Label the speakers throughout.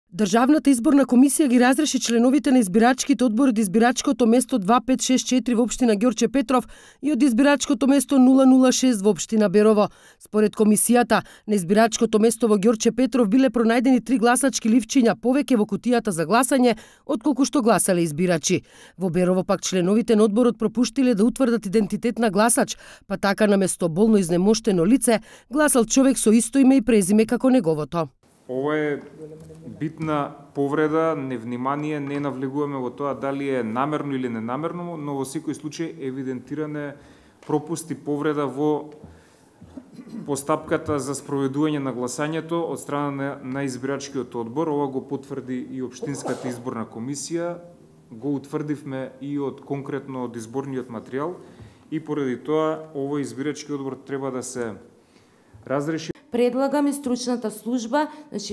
Speaker 1: Државната изборна комисија ги разреши членовите на избирачките одбори од избирачкото место 2564 во општина Ѓорче Петров и од избирачкото место 006 во општина Берово. Според комисијата, на избирачкото место во Ѓорче Петров биле пронајдени 3 гласачки ливчиња повеќе во кутијата за гласање отколку што гласале избирачи. Во Берово пак членовите на одборот пропуштиле да утврдат идентитет на гласач, па така на место болно изнемоштено лице гласал човек со исто име и презиме како неговото.
Speaker 2: Ова е битна повреда, невнимание, не навлегуваме во тоа дали е намерно или ненамерно, но во секој случај евидентиране пропусти, повреда во постапката за спроведување на гласањето од страна на избирачкиот одбор. Ова го потврди и Општинската изборна комисија, го утврдивме и од конкретно од изборниот материјал и поради тоа овој избирачки одбор треба да се разреши.
Speaker 3: Предлагаме стручната служба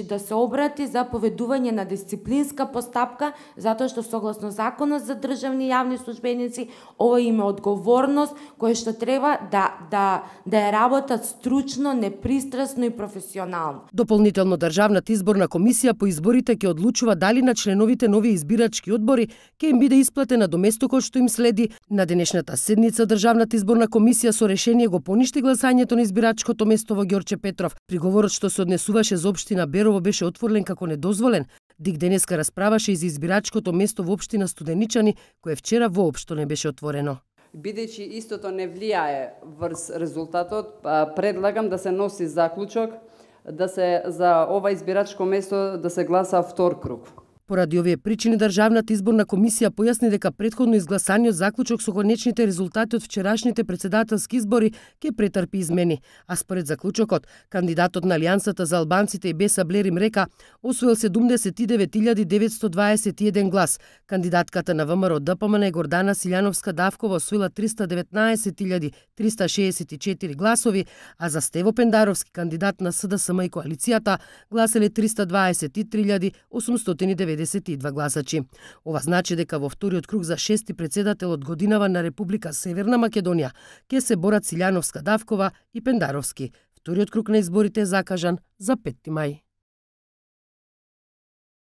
Speaker 3: да се обрати за поведување на дисциплинска постапка, затоа што согласно Законот за државни јавни службеници, ова има одговорност која што треба да ја работат стручно, непристрасно и професионално.
Speaker 1: Дополнително Државната изборна комисија по изборите ќе одлучува дали на членовите нови избирачки одбори ќе им биде исплатена доместокот што им следи. На денешната седница Државната изборна комисија со решение го поништи гласањето на избирачкото место во Ѓорче Петров. Приговорот што се однесуваше за општина Берово беше отворен како недозволен. ДИК денеска расправаше и за избирачкото место во општина Студеничани, кое вчера воопшто не беше отворено.
Speaker 4: Бидејќи истото не влијае врз резултатот, предлагам да се носи заклучок да се за ова избирачко место да се гласа втор круг.
Speaker 1: Поради овие причини Државната изборна комисија појасни дека претходно изгласаниот заклучок со конечните резултати од вчерашните председателски избори ќе претрпи измени, а според заклучокот кандидатот на Алијансата за албанците и Беса Блерим Река освоил 79.921 глас, кандидатката на ВМРО ДПМН Гордана Силјановска Давкова освоила 319.364 гласови, а за Стево Пендаровски, кандидат на СДСМ и коалицијата, гласале 323.892 гласачи. Ова значи дека во вториот круг за 6ти председател од годинава на Република Северна Македонија ќе се борат Силјановска Давкова и Пендаровски. Вториот круг на изборите е закажан за 5 мај.